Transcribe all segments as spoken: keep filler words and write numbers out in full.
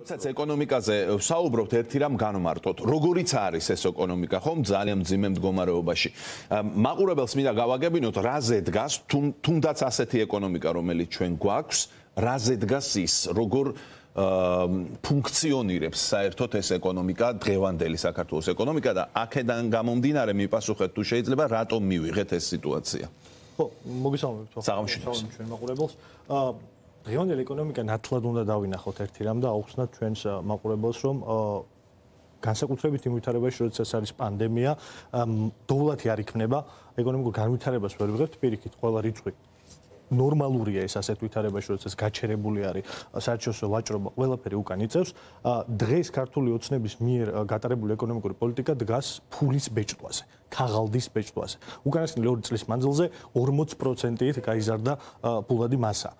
როდესაც ეკონომიკაზე ვსაუბრობთ, ერთი რამ განვმარტოთ. როგორიც არის ეს ეკონომიკა, ხომ ძალიან მძიმე მდგომარეობაში. მაყურებელს მინდა გავაგებინოთ, რაზე დგას, თუნდაც ასეთი ეკონომიკა, რომელიც ჩვენ გვაქვს, რაზე დგას ის, როგორ ფუნქციონირებს საერთოდ ეს ეკონომიკა, დღევანდელი საქართველოს ეკონომიკა და აქედან გამომდინარე მიპასუხეთ თუ შეიძლება რატომ მივიღეთ ეს სიტუაცია. ხო, მოგესალმებით. საღამოშიც ჩვენ მაყურებელს. დღევანდელი ეკონომიკა ნათლად უნდა დავინახოთ ერთი რამ და აუხსნათ ჩვენს მაყურებელს, რომ განსაკუთრებით იმ ვითარებაში, როდესაც არის პანდემია, დოვლათი არ იქნება, ეკონომიკურ განვითარებას ვერ ვიღებთ, პირიქით, ყველა რიცხვი ნორმალურია ეს ასეთ ვითარებაში, როდესაც გაჩერებული არის საერთაშორისო ვაჭრობა, ყველაფერი უკან იწევს. დღეს ქართული ოცნების მიერ გატარებული ეკონომიკური პოლიტიკა დგას ფულის ბეჭდვაზე, ქაღალდის ბეჭდვაზე. უკანასკნელი ორი წლის მანძილზე ორმოც პროცენტით გაიზარდა ფულადი მასა.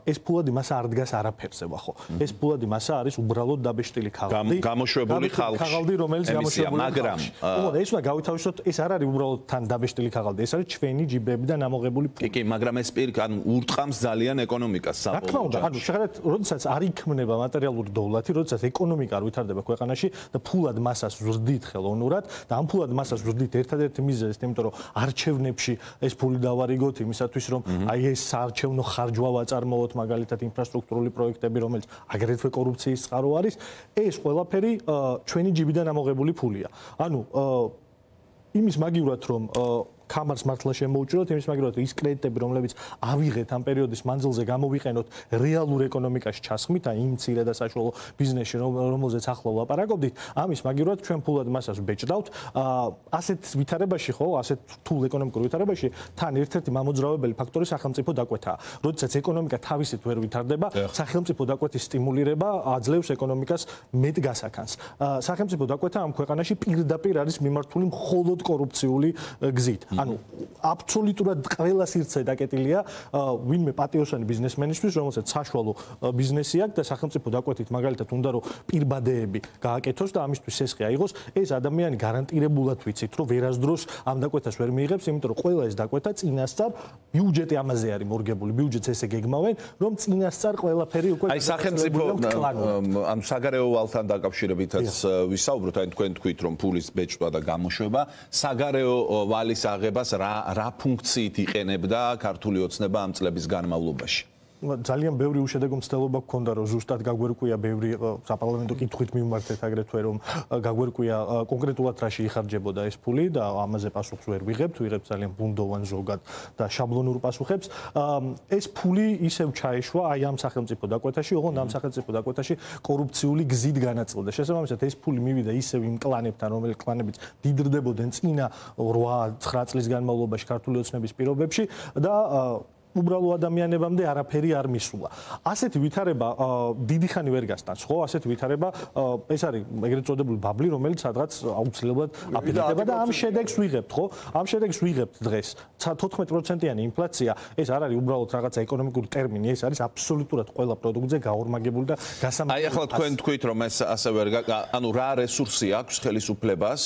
ეს ფულადი მასა არ დგას არაფერზე, ვახო. ეს ფულადი მასა არის უბრალოდ დაბეჭდილი ქაღალდი. გამოშვებული ხალხი. ქაღალდი, რომელიც გამოშვებული მაგრამ ეს უნდა გავითავისოთ, ეს არ არის უბრალოდ თან დაბეჭდილი ქაღალდი, ეს არის ჩვენი ჯიბებიდან ამოღებული ფული. კი, მაგრამ ეს პირ ანუ ურტყამს ძალიან ეკონომიკას საბოლოო ჯამში. ანუ შეხედეთ, როდესაც არ იქმნება მატერიალური დოვლათი, როდესაც ეკონომიკა არ ვითარდება ქვეყანაში და ფულად მასას ვზრდით ხელოვნურად და ამ ფულად მასას ვზრდით ერთადერთი მიზეზი, იმიტომ რომ არჩევნებში ეს ფული დავარიგოთ იმისათვის, რომ აი ეს საარჩევნო ხარჯვა ვაწარმოოთ, მაგალითად ინფრასტრუქტურული პროექტები, რომელიც აგრეთვე კორუფციის წყარო არის, ეს ყველაფერი ჩვენი ჯიბიდან ამოღებული ფულია. ანუ იმის მაგივრად, რომ კამარს მართლა შემოუჭიროთ, იმის მაგივრად ის კრედიტები, რომლებიც ავიღეთ ამ პერიოდის მანძილზე, გამოვიყენოთ რეალურ ეკონომიკაში ჩასხმით, აი იმ მცირე და საშუალო ბიზნესში, რომელზეც ახლა ვლაპარაკობდით, ამის მაგივრად ჩვენ ფულად მასას ვბეჭდავთ. ასეთ ვითარებაში, ხო, ასეთ რთულ ეკონომიკურ ვითარებაში, თან ერთ-ერთი მამოძრავებელი ფაქტორი სახელმწიფო დაკვეთაა. როდესაც ეკონომიკა თავისით ვერ ვითარდება, სახელმწიფო დაკვეთის სტიმულირება აძლევს ეკონომიკას მეტ გასაქანს. სახელმწიფო დაკვეთა ამ ქვეყანაში პირდაპირ არის მიმართული მხოლოდ კორუფციული გზით. ანუ აბსოლუტურად ყველა სივრცე დაკეტილია ვინმე პატიოსანი ბიზნესმენისთვის, რომელსაც საშუალო ბიზნესი აქვს და სახელმწიფო დაკვეთით მაგალითად უნდა რომ პირბადეები გააკეთოს და ამისთვის სესხი აიღოს, ეს ადამიანი გარანტირებულად ვიცით, რომ ვერასდროს ამ დაკვეთას ვერ მიიღებს, იმიტომ რომ ყველა ეს დაკვეთა წინასწარ ბიუჯეტი ამაზე არის მორგებული, ბიუჯეტს ესე გეგმავენ, რომ წინასწარ ყველაფერი უკვე აი სახელმწიფო ანუ საგარეო ვალთან დაკავშირებითაც ვისაუბროთ, აი თქვენ თქვით რომ ფულის ბეჭდვა და გამოშვება, საგარეო ვალის აღებას რა რა ფუნქციით იყენებდა ქართული ოცნება ამ წლების განმავლობაში? ძალიან ბევრი უშედეგო მცდელობა გქონდა, რომ ზუსტად გაგვერკვია ბევრი საპარლამენტო კითხვით მიმართეთ აგრეთვე, რომ გაგვერკვია კონკრეტულად რაში იხარჯებოდა ეს ფული და ამაზე პასუხს ვერ ვიღებთ, ვიღებთ ძალიან ბუნდოვან ზოგად და შაბლონურ პასუხებს. ეს ფული ისევ ჩაეშვა აი ამ სახელმწიფო დაკვეთაში, ოღონდ ამ სახელმწიფო დაკვეთაში კორუფციული გზით განაწილდა. შესაბამისად ეს ფული მივიდა ისევ იმ კლანებთან, რომელიც კლანებიც დიდრდებოდნენ წინა რვა ცხრა წლის განმავლობაში ქართული ოცნების პირობებში და უბრალო ადამიანებამდე არაფერი არ მისულა. ასეთი ვითარება დიდი ხანი ვერ გასტანს, ხო? ასეთი ვითარება ეს არის ეგრეთ წოდებული ბაბლი, რომელიც სადღაც აუცილებლად აფეთქება და ამ შედეგს ვიღებთ, ხო? ამ შედეგს ვიღებთ დღეს. თოთხმეტ პროცენტიანი ინფლაცია, ეს არ არის უბრალოდ რაღაცა ეკონომიკური ტერმინი, ეს არის აბსოლუტურად ყველა პროდუქტზე გაორმაგებული და გასამართლებელი. აი ახლა თქვენ თქვით, რომ ეს ასე ვერ ანუ რა რესურსი აქვს ხელისუფლებას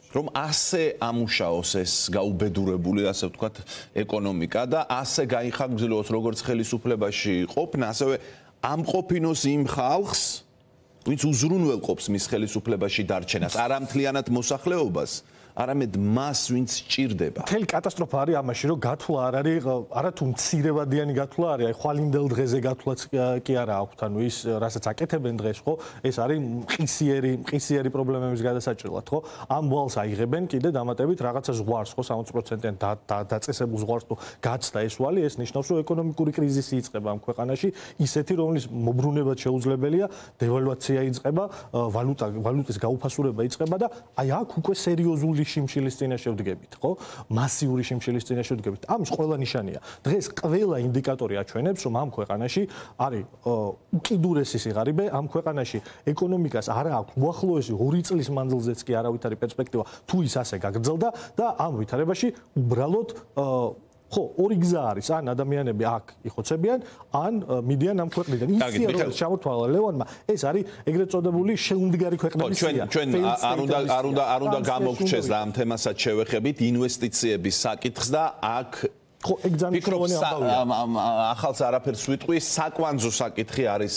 რომ ასე ამუშაოს ეს გაუბედურებული, ასე ვთქვათ, ეკონომიკა და ასე გაიხანგრძლივოს როგორც ხელისუფლებაში ყოფნა, ასევე ამყოფინოს იმ ხალხს, ვინც უზრუნველყოფს მის ხელისუფლებაში დარჩენას, არა მთლიანად მოსახლეობას, არამედ მას, ვინც სჭირდება. მთელი კატასტროფა არის ამაში, რომ გათვლა არ არის, არა თუ მცირევადიანი გათვლა არის, აი ხვალინდელ დღეზე გათვლაც კი არა აქვთ, ანუ ის რასაც აკეთებენ დღეს, ხო? ეს არის მყისიერი, მყისიერი პრობლემების გადასაჭრელად, ხო? ამ ვალს აიღებენ კიდე დამატებით რაღაცა ზღვარს, ხო, სამოცი პროცენტიან დაწესებულ ზღვარს თუ გაცდა ეს ვალი, ეს ნიშნავს, რომ ეკონომიკური კრიზისი იწყება ამ ქვეყანაში, ისეთი, რომლის მოbrunებად შეუძლებელია, დევალვაცია იწყება, ვალუტა, ვალუტის გაუფასურება იწყება და აი აქ უკვე სერიოზული შიმშილის წინაშე ვდგებით, ხო? მასიური შიმშილის წინაშე ვდგებით. ამის ყველა ნიშანია. დღეს ყველა ინდიკატორი აჩვენებს, რომ ამ ქვეყანაში არის უკიდურესი სიღარიბე, ამ ქვეყანაში ეკონომიკას არ აქვს უახლოესი ორი წლის მანძილზეც კი არავითარი პერსპექტივა, თუ ის ასე გაგრძელდა და ამ ვითარებაში უბრალოდ ხო, ორი გზა არის, ან ადამიანები აქ იხოცებიან, ან მიდიან ამ ქვეყნიდან. ისი რომ ჩამოთვალა ლევანმა, ეს არის ეგრეთ წოდებული შეუმდგარი ქვეყნების სია. ჩვენ ჩვენ არ უნდა არ უნდა არ უნდა გამოგჩეს და ამ თემასაც შევეხებით ინვესტიციების საკითხს და აქ ხო, ეგ ძალიან მნიშვნელოვანი ამბავია. ახალს არაფერს ვიტყვი, საკვანძო საკითხი არის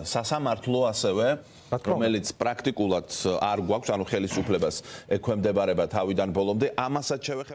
სასამართლო ასევე, რომელიც პრაქტიკულად არ გვაქვს, ანუ ხელისუფლებას ექვემდებარება თავიდან ბოლომდე, ამასაც შევეხებ